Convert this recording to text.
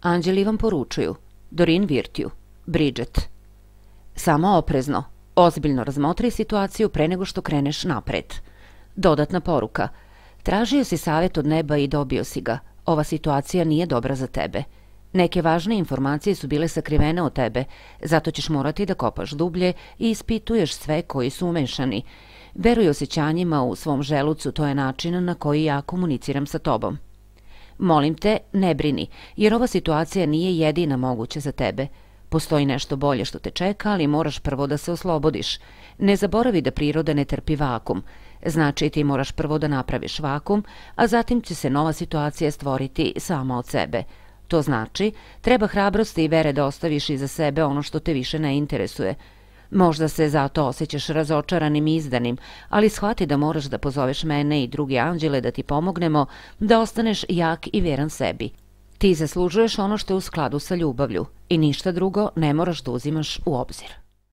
Anđeli vam poručuju. Doreen Virtue, Bridget. Samo oprezno, ozbiljno razmotri situaciju pre nego što kreneš napred. Dodatna poruka. Tražio si savjet od neba i dobio si ga. Ova situacija nije dobra za tebe. Neke važne informacije su bile sakrivene od tebe, zato ćeš morati da kopaš dublje i ispituješ sve koji su umešani. Veruj osjećanjima u svom želucu, to je način na koji ja komuniciram sa tobom. Molim te, ne brini, jer ova situacija nije jedina moguća za tebe. Postoji nešto bolje što te čeka, ali moraš prvo da se oslobodiš. Ne zaboravi da priroda ne trpi vakum. Znači ti moraš prvo da napraviš vakum, a zatim će se nova situacija stvoriti sama od sebe. To znači, treba hrabrosti i vere da ostaviš iza sebe ono što te više ne interesuje. Možda se zato osjećaš razočaranim i izdanim, ali shvati da moraš da pozoveš mene i druge anđele da ti pomognemo da ostaneš jak i veran sebi. Ti zaslužuješ ono što je u skladu sa ljubavlju i ništa drugo ne moraš da uzimaš u obzir.